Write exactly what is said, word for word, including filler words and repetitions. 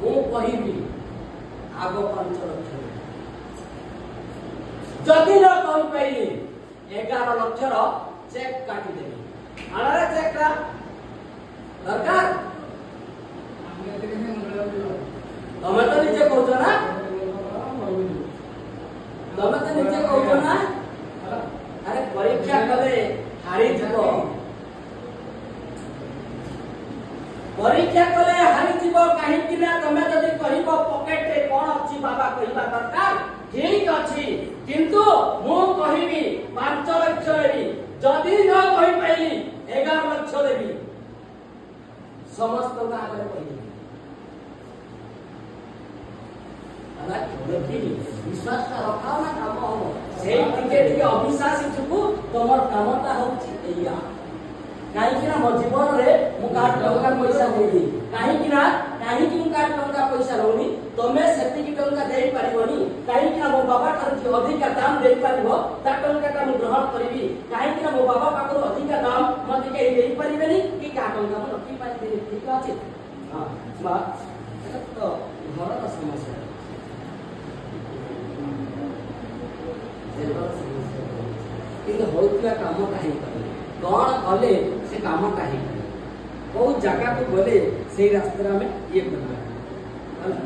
ମୁଁ କହିବି ଆଗ ପାଞ୍ଚ ଲକ୍ଷ ଦେବି। ଯଦି ନ କହିପାରିଲି, ଏଗାର ଲକ୍ଷର ଚେକ୍ କାଟିଦେବି। ଆଣରେ ଚେକ୍ ଟା ଦରକାର। ତମେ ତ ନିଜେ କହୁଛ ନା, ତମେ ତ ନିଜେ କହୁଛ ନା। ଆରେ ପରୀକ୍ଷା କଲେ ହାରିଯିବ, ପରୀକ୍ଷା କଲେ ହାରିଯିବ। କାହିଁକି ନା ତମେ ଯଦି କହିବ ପକେଟରେ କଣ ଅଛି ବାବା କହିବା ଦରକାର, ଠିକ ଅଛି, କିନ୍ତୁ ମୁଁ କହିବି ପାଞ୍ଚ ଲକ୍ଷ ଦେବି, ଯଦି ନ କହିପାରିଲି ଏଗାର ଲକ୍ଷ ଦେବି। ସମସ୍ତଙ୍କ ଆଗରେ କହିବି ହେଲା, ଦେଖିବି ବିଶ୍ୱାସଟା ରଖାଅ ନା କାମ ହବ। ସେଇ ଟିକେ ଟିକେ ଅବିଶ୍ୱାସୀ ଯୋଗୁ ତମର କାମଟା ହଉଛି ଏଇଆ। କାହିଁକି ନା ମୋ ଜୀବନରେ ମୁଁ କାହାର ଟଙ୍କା ପଇସା ଦେଇନି। କାହିଁକି ନା କାହିଁକି ମୁଁ କାହାର ଟଙ୍କା ପଇସା ରହୁନି? ତମେ ସେତିକି ଟଙ୍କା ଦେଇପାରିବନି। କାହିଁକି ନା ମୋ ବାବା ଠାରୁ ଯିଏ ଅଧିକା ଦାମ ଦେଇପାରିବ, ତା ଟଙ୍କାଟା ମୁଁ ଗ୍ରହଣ କରିବି। କାହିଁକି ନା ମୋ ବାବା ପାଖରୁ ଅଧିକା ଦାମ ମତେ କେହି ଦେଇପାରିବେନି କି କାହା ଟଙ୍କା ମୁଁ ରଖିପାରିବିନି। ଠିକ ଅଛି? ହଁ ମା, ଏଟା ତ ଘରର ସମସ୍ୟା, ଘରର ସମସ୍ୟା। କିନ୍ତୁ ହଉଥିବା କାମଟା ହେଇପାରୁନି। କଣ କଲେ ସେ କାମଟା ହେଇପାରିବ? କୋଉ ଜାଗାକୁ ଗଲେ ସେଇ ରାସ୍ତାରେ ଆମେ ଇଏ କରିବା ହେଲା।